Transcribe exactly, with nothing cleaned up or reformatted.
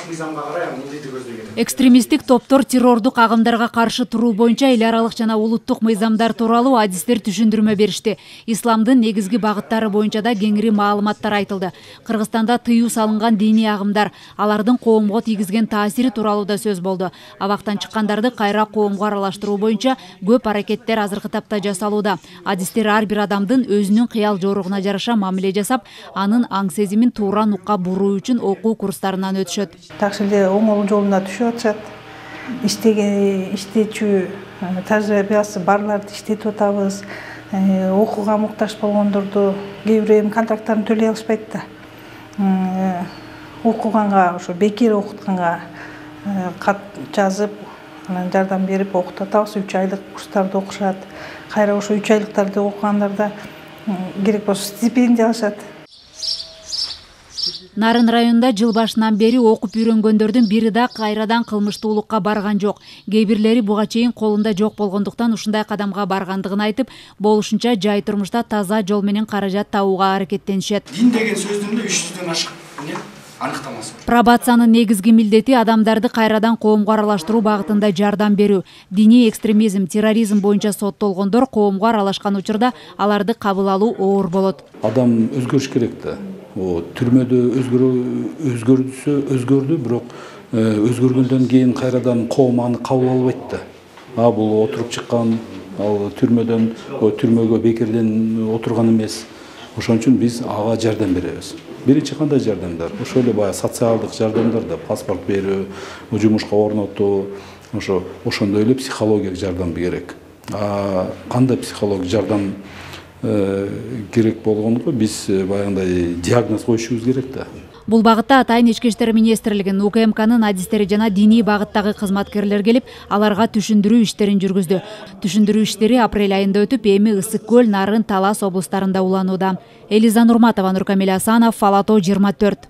мыйзамга карай эмнеди көздөгөн? Экстремисттик топтор террордук агымдарга каршы туруу боюнча эл аралык жана улуттук мыйзамдар тууралуу адистер түшүндүрмө беришти. Исламдын негизги багыттары боюнча да кеңири маалыматтар айтылды. Кыргызстанда тыюу салынган диний агымдар, алардын коомго тийгизген таасири тууралуу да сөз болду. Абактан чыккандарды кайра коомго аралаштыруу боюнча көп аракеттер азыркы тапта жасалууда. Адистер ар бир адамдын өзүнүн кыял жоругуна жараша мамиле жасап, анын аң сезимин туура нукка буруу үчүн окуу курстарынан өтүшөт. Так эле оңол жолуна түшүп атышат. Иштеген иштечү тажрыйбасы барларды иштетип атабыз. Окууга муктаж болгондорду кээ бирөө эми контракттарын төлөй алышпайт да. Окуганга, ошо бекер окутканга кат жазып, анан жардам берип окутуп атабыз. үч айлык курстарды окушат. Кайра ошо үч айлыктарды окугандарда керек болсо стипендия алышат. Нарын районунда жыл башынан бери окуп үйрөнгөндөрдүн бири да кайрадан кылмыштуулукка барган жок. Кээ бирлери буга чейин колунда жок болгондуктан ушундай кадамга баргандыгын айтып, болушунча жай турмушта таза жол менен каражат табууга аракеттенишет. Дин деген сөздүн да үч жүздөн ашык аныктамасы бар. Пробациянын негизги милдети адамдарды кайрадан коомго аралаштыруу багытында жардам берүү. Диний экстремизм, терроризм боюнча соттолгондор коомго аралашкан учурда аларды кабыл алуу оор болот. Адам өзгөрүш керек да. Түрмөдө өзгөрдүсө өзгөрдү, бирок өзгөргөндөн кийин кайрадан коом аны кабыл албайт да. А бул отуруп чыккан, ал түрмөдөн түрмөгө бекерден отурган эмес. Ошон үчүн биз ага жардам беребиз. Биринчи кандай жардамдар? Ошо эле баягы социалдык жардамдар да, паспорт берүү, жумушка орнотуу, ошо ошондой эле психологиялык жардам керек. А кандай психологиялык жардам керек болгонго биз баягындай диагноз коюшубуз керек да. Бул багытта Атайын ички иштер министрлигинин, У К М К'нын адистери жана диний багыттагы кызматкерлер келип, аларга түшүндүрүү иштерин жүргүздү. Түшүндүрүү иштери апрель айында өтүп, эми Ысык көл, Нарын, Талас облустарында уланууда. Элиза Нурматова, Нуркамил Асанов, Фалато жыйырма төрт.